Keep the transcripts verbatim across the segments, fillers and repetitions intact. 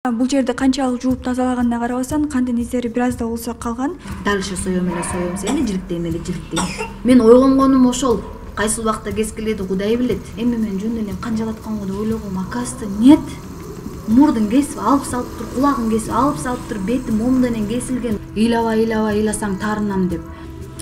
Бул жерде канчалык жууп тазалаганына карабастан кандын издери бир аз да болсо калган. Дал ошо соем эле соем, сени жиликтейм эле жиликтейм. Мен ойгонгонум ошол. Кайсыл убакта кескиледи Кудай билет. Эми мен жөн эле канжалатканга да ойлогом, акасты нет. Мурдун кесип алып салып тур, кулагын кесип алып салып тур, бети момденен кесилген. Ыйлабай ыйлабай ыйласаң таарынам деп.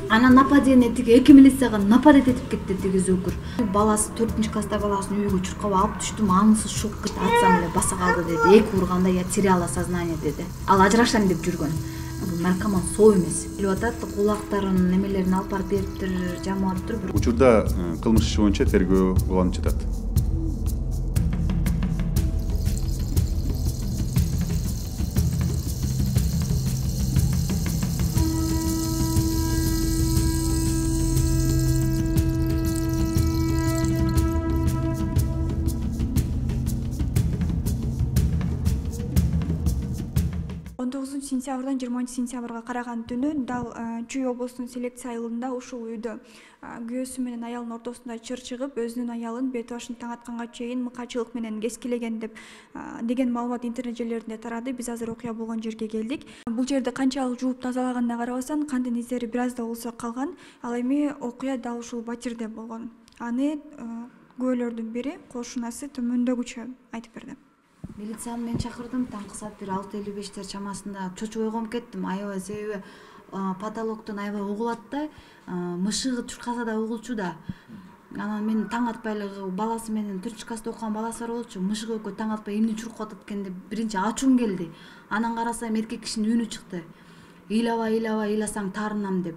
Анан нападение тиги эки милицияга нападать этип кетти тиги зөкүр. Баласы төртүнчү класста баласын үйгө чуркап алып түштүм, аңсыз шок кетти, атсам эле баса калды деди. Эки урганда я теряла сознание деди. Ал ажырашам деп жүргөн. Бул наркоман соо эмес. Билип атат, кулактарын, немелерин алып барып бериптир, жамап туруп. Учурда кылмыш иши боюнча тергөө уланып жатат. он тогузунчу сентябрдан жыйырманчы сентябрга караган түнү дал Чүй облусунун селекция айылында ушул үйдө күйөөсү менен аялдын ортосунда чыр чыгып, өзүнүн аялын бет башын таң атканга чейин мыкачылык менен кескилеген деп деген маалымат интернет желилеринде тарады. Биз азыр окуя болгон жерге келдик. Бул жерде канчалык жууп тазалаганына карабастан кандын издери бир аз да болсо калган. Ал эми окуя дал ушул батирде болгон. Аны күбөлөрдүн бири кошунасы төмөндөгүчө айтып берди. Милицияны мен чакырдым, таңкы саат бир алты элүү бештер чамасында чочуп ойгонуп кеттим. Аябай себеби потолоктон аябай угулат да, мышыгы чуркаса да угулчу да. Анан мен таң атпай эле баласы менен төртүнчү класста окуган баласы бар болчу. Мышыгы экөө таң атпай эмне чуркап атат экен деп биринчи ачуум келди. Анан карасам эркек кишинин үнү чыкты. Ыйлабай ыйлабай ыйласаң таарынам деп.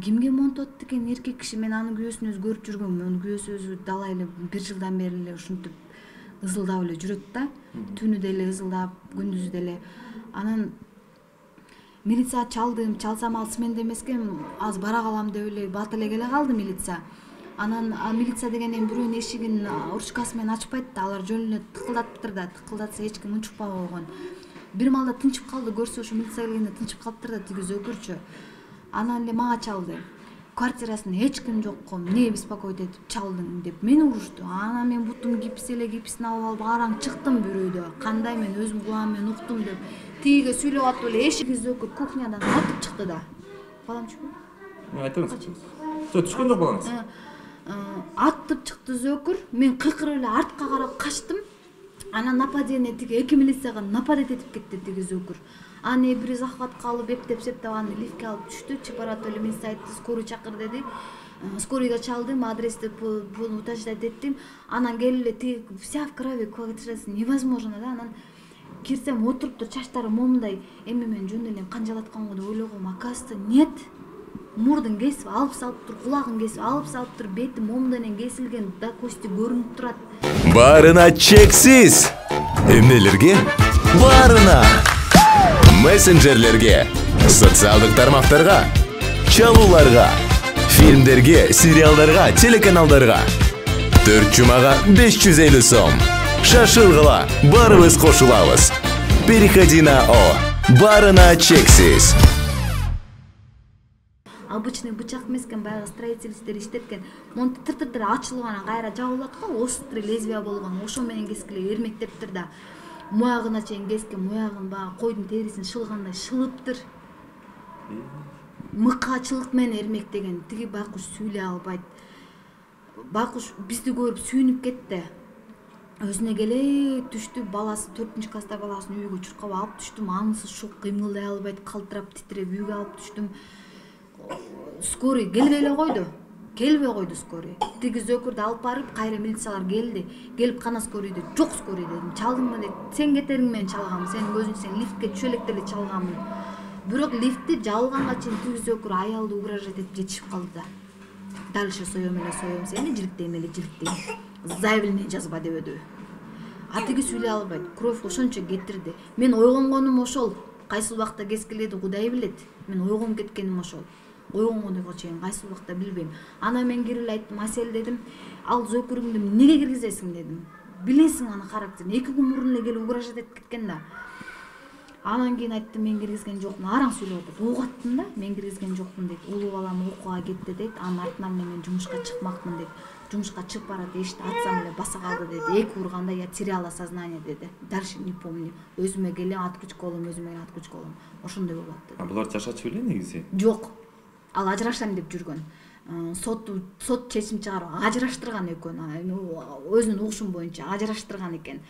Кимге монтоп атты экен эркек киши? Мен анын күйөөсүн өзү көрүп жүргөм. Анын күйөөсү өзү далай эле бир жылдан бери эле ушинтип ызылдап эле жүрөт да. Түнү деле ызылдап, күндүзү деле. Анан милиция чалдым, чалсам ал сменде эмес экен, аз бара калам деп эле бат эле келе калды милиция. Анан милиция деген эми бирөөнүн эшигин ручкасы менен ачпайт да, алар жөн эле тыкылдатыптыр да, тыкылдатса эч ким унчукпай койгон. Бир маалда тынчып калды, көрсө ошо милиция келгенде тынчып калыптыр да тиги зөкүрчү. Анан эле мага чалды. Квартирасында эч ким жокко, эмне беспокоить этип чалдың деп мени урушту. Анан мен бутум гипс эле гипсин алып алып араң чыктым бір үйдө. Кандай мен өзүм кулагым менен уктум деп. Тиге сүйлөп атып эле эшикти зөкүр кухнядан атып чыкты да. Балам чыкты? Айтыңыз. Сө түшкөн жок балаңыз? Атып чыкты зөкүр. Мен кыйкырып эле артка карап качтым. Анан нападение тиги эки милицияга нападать этип кетти тиги зөкүр. Аны бир захватка алып эптеп-септеп аны лифтке алып түштү. Чипарат эле мен айтты, скорый чакыр деди. Скорыйга чалдым, адрести буну уточнять эттим. Анан келип эле тиги вся в крови, квартирасы невозможно да. Анан кирсем отуруптур, чачтары момундай. Эми мен жөн эле канжалатканга да ойлогом, акасты нет. Мурдун кесип алып салып тур, кулагын кесип алып салып тур, бети момденен кесилген, да кости көрүнүп турат. Барына чексиз. Эмнелерге? Барына. Мессенджерлерге, социалдык тармактарга, чалууларга, фильмдерге, сериалдарга, телеканалдарга. төрт жумага беш жүз элүү сом. Шашылгыла, барыбыз кошулабыз. Переходи на О. Барына чексиз. Обычный бычак эмес экен, баягы строительство иштеткен. Монтип тыр-тыр ачылып анан кайра жабылат го, острый лезвие болгон. Ошо менен кескиле эрмектептир да. Муягына чейин кескен, муягын баягы койдун терисин шылгандай шылыптыр. Мыкачылык менен эрмектеген. Тиги байкуш сүйлөй албайт. Байкуш бизди көрүп сүйүнүп кетти. Өзүнө келе түштү, баласы төртүнчү класста баласын үйгө чуркап алып түштүм. Аңсыз шок, кыймылдай албайт, калтырап, титиреп үйгө алып түштүм. Скорый келбей эле койду. Келбей койду скорый. Тиги зөкүрдү алып барып, кайра милициялар келди. Келип кана скорыйды. Жок скорый дедим. Чалдыңбы деп. Сен кетериң менен чалгам. Сенин көзүң сен лифтке түшө электе эле чалганмын. Бирок лифтти жабылганга чейин тиги зөкүр аялды угрожать этип жетишип калды да. Дал ошо соем эле соем, сени жиликтейм эле жиликтейм. Заявление жазба дебеди. А тиги сүйлөй албайт. Кровь ошончо кетирди. Мен ойгонгонум ошол. Кайсыл убакта кескиледи Кудай билет. Мен ойгонуп кеткеним ошол. Ойгонгонго чейин кайсы убакта билбейм. Анан мен кирип эле айттым, Асел дедим, ал зөкүрүңдү эмнеге киргизесиң дедим. Билесиң анын характерин. эки күн мурун эле келип угрожать этип кеткен да. Анан кийин айттым, мен киргизген жокмун. Араң сүйлөп атат. Угаттым да, мен киргизген жокмун дейт. Улуу балам окууга кетти дейт. Анын артынан мен жумушка чыкмакмын дейт. жумушка чыгып барат, эшикти ачсам эле баса калды деди. Эки урганда я теряла сознание деди. Дальше не помню. Өзүмө келем, откручка болом, өзүмө келем, откручка болом. Ошондой болот деди. А булар жашачу беле негизи? Жок. Ал ажырашам деп жүргөн. Сот сот чечим чыгарып ажыраштырган экөөнү. Өзүнүн угушум боюнча ажыраштырган экен.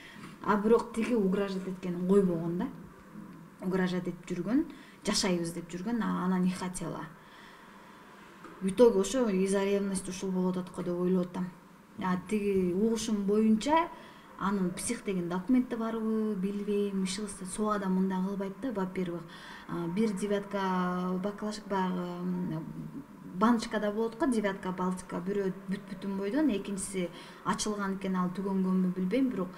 А бирок тиги угрожать эткенин койбогон да. Угрожать этип жүргөн, жашайбыз деп жүргөн, она не хотела. В итоге ошо из-за ревности ушул болуп атат деп ойлоп атам. А тиги угушум боюнча анын псих деген документи барбы, билбейм, ишибизде соо адам мындай кылбайт да, во-первых. Бир девятка баклажка баягы баночкада болот го, девятка балтика, бирөө бүт-бүтүн бойдон, экинчиси ачылган экен, ал түгөнгөнбү билбейм, бирок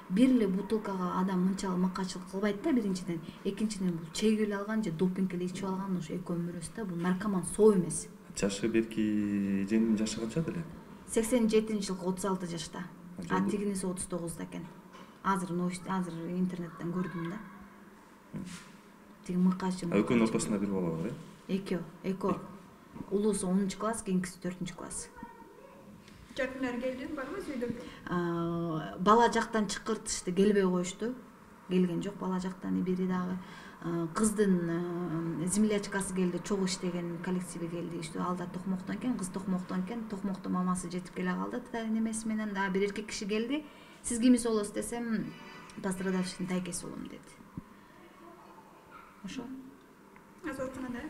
бир эле бутылкага адам мынчалык мыкачылык кылбайт да, биринчиден. Экинчиден бул чегип эле алган же допинг эле ичип алган, ошо экөө өмүрөс да, бул наркоман соо эмес. Жашы берки эженин жашы канча деле? сексен жетинчи жылкы отуз алты жашта. А тигиниси отуз тогузда экен. Азыр новость, азыр интернеттен көрдүм да. Тиги мыкачы. А экөөнүн ортосунда бир бала бар, э? Экөө, экөө. Улуусу онунчу класс, кийинкиси төртүнчү класс. Жакындар келдиби, барбы үйдө? Бала жактан чакыртышты, келбей коюшту. Келген жок бала жактан, бири дагы кыздын землячкасы келди, чогуу иштеген коллективи келди. Иштөө ал да токмоктон экен, кыз токмоктон экен. Токмокто мамасы жетип келе калды, немеси менен. Да, бир эркек киши келди. Сиз кимиз болосуз десем, пострадавшийдин тайкеси болом деди. Ошо. Азыр ооруканада?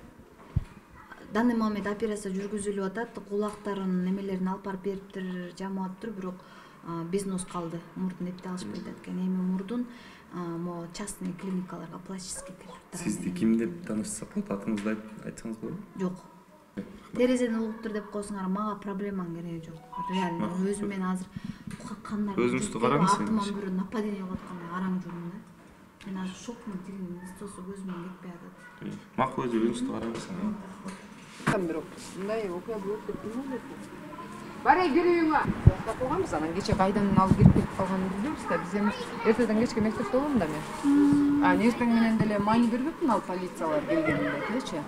Данный момент операция жүргүзүлүп атат. Кулактарын, немелерин алып барып бериптир, жамап атыптыр, бирок бизнес калды. Мурдун эпте алышпай атат экен. Эми мурдун мо частный клиникаларга пластический хирургдар. Сизди ким деп таанышсак болот? Атыңызды айтсаңыз болобу? Жок. Терезеден угуптур деп койсоңар, мага проблемаң кереги жок. Реально өзүм мен азыр кандар өзүңүздү караңыз. Артыман бирөө нападение кылып аткандай караң жүрмүн да. Мен азыр шокмун, тигин истосу көзүмөн кетпей атат. Макул өзү өзүңүздү караңыз. Бирок мындай окуя болот деп билбедим. Барай кирүүңө. Токтоп койгонбуз, анан кече кайдан алып кирип кетип калганын билбейбиз да. Биз эми эртеден кечке мектепте болом да мен. А эртең менен деле маани бербепмин ал полициялар келгенде делечи.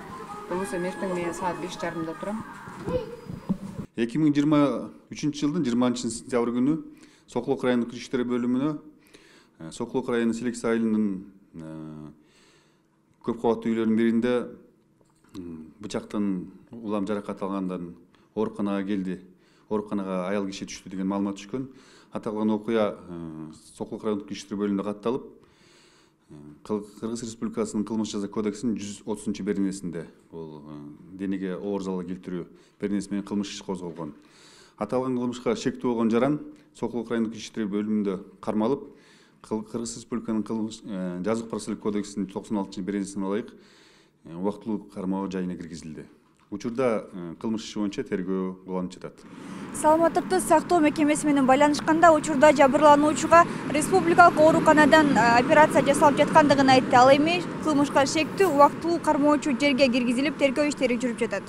Болбосо эртең менен саат беш жарымда турам. эки миң жыйырма үчүнчү жылдын жыйырманчы сентябрь күнү Сокулук райондук ички иштер бөлүмүнө Сокулук району Селекция айылынын көп кабаттуу үйлөрүнүн биринде бычактан улам жаракат алгандан ооруканага келди. Ооруканага аял киши түштү деген маалымат түшкөн. Аталган окуя Сокулук райондук ички иштер бөлүмүндө катталып, Кыргыз Республикасынын кылмыш жаза кодексинин жүз отузунчу беренесинде бул денеге оор залал келтирүү беренеси менен кылмыш иши козголгон. Аталган кылмышка шектүү болгон жаран Сокулук райондук ички иштер бөлүмүндө кармалып, Кыргыз Республиканын кылмыш жазык процессуалдык кодексинин токсон алтынчы беренесине ылайык убактылуу кармоо жайына киргизилди. Учурда кылмыш иши боюнча тергөө уланып жатат. Саламаттыкты сактоо мекемеси менен байланышканда учурда жабырлануучуга республикалык ооруканадан операция жасалып жаткандыгын айтты. Ал эми кылмышка шектүү убактылуу кармоочу жерге киргизилип, тергөө иштери жүрүп жатат.